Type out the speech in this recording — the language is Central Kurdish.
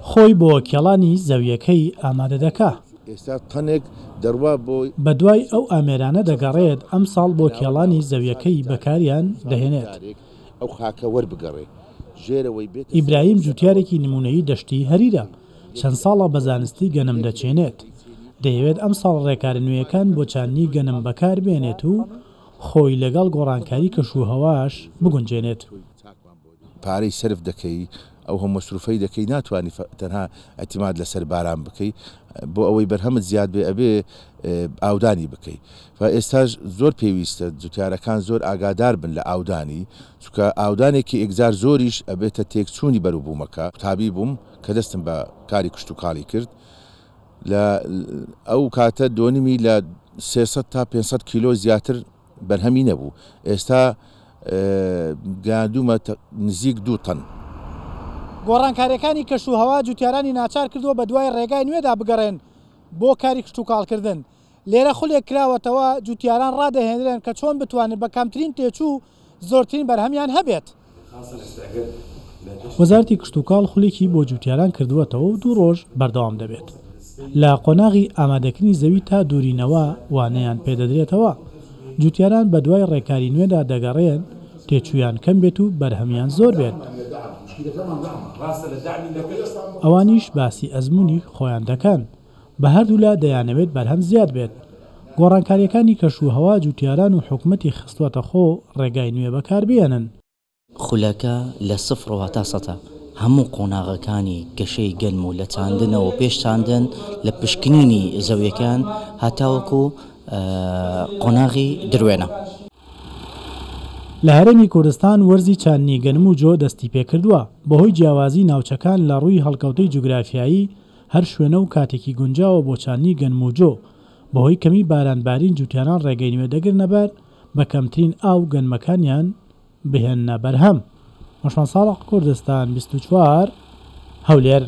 خۆی بۆ کێڵانی زەوییەکەی ئامادە دەکا. بەدوای ئەو ئامێرانە دەگەڕێت ئەمساڵ بۆ کێڵانی زەوییەکەی بەکاریان دەهێنێت. ئیبراهیم جوتیارێکی نمونەیی دەشتی هەریرە، چەند ساڵە بە زانستی گەنم دەچێنێت. دەیەوێت ئەمساڵ ڕێکارە نوێیەکان بۆ چاندنی گەنم بەکاربێنێت و خۆی لەگەڵ گۆڕانکاری کەشوهەواش بگونجێنێت. پارەی سەرف دەکەی ئەو هەموو مەسروفەی دەکەی ناتوانی تەنها ئیعتیماد لەسەر باران بکەی بۆ ئەوەی بەرهەمت زیاد بێ ئەبێ ئاودانی بکەی و ئێستاش زۆر پێویستە جوتیارەکان زۆر ئاگادار بن لە ئاودانی چونکە ئاودانێکی ئێکجار زۆریش ئەبێتە تێکچوونی بەروبوومەکە قوتابی بووم کە دەستم بە کاری کشتوکاڵی کرد لە ئەو کاتە دۆنمی لە 300 تا 500 کیلۆ زیاتر بەرهەمی نەبوو ئێستا گەیاندوومە نزیک دوو تەن. گۆڕانکارییەکانی کەشوهەوا جوتیارانی ناچار کردووە بەدوای ڕێگای نوێدا بگەڕێن بۆ کاری کشتوکاڵکردن. لێرە خولێک کراوەتەوە جوتیاران ڕادەهێنرێن کە چۆن بتوانن بە کەمترین تێچوو زۆرترین بەرهەمیان هەبێت. وەزارەتی کشتوکاڵ خولێکی بۆ جوتیاران کردووەتەوە و دوو ڕۆژ بەردەوام دەبێت. لە قۆناغی ئامادەکردنی زەوی تا دوورینەوە وانەیان پێدەدرێتەوە. جوتیاران بەدوای ڕێکاری نوێدا دەگەڕێن تێچوویان کەم بێت و بەرهەمیان زۆر بێت. ئەوانیش باسی ئەزموونی خۆیان دەکەن. بە هەردوولا دەیانەوێت بەرهەم زیاد بێت. گۆڕانکارییەکانی کەشوهەوا جوتیاران و حکومەتی خستووەتە خۆ ڕێگای نوێ بەکاربهێنن. خولەکە لە سفرەوە تا سەتا هەموو قۆناغەکانی گەشەی گەنم و لە چاندنەوە پێش چاندن لە پشکنینی زەویەکان هەتاوەکو قۆناغی دروێنە. لە هەرێمی کوردستان وەرزی چاندنی گەنم و جۆ دەستیپێکردووە، بەهۆی جیاوازی ناوچەکان لە ڕووی هەڵکەوتەی جوگرافیایی هەر شوێنە و کاتێکی گونجاوە بۆ چاندنی گەنم و جۆ، بەهۆی کەمی باران بارین جوتیاران ڕێگەی نوێ دەگرنەبەر بە کەمترین ئاو گەنمەکانیان بهێننە بەرهەم. عوسمان ساڵح، کوردستان 24، هەولێر.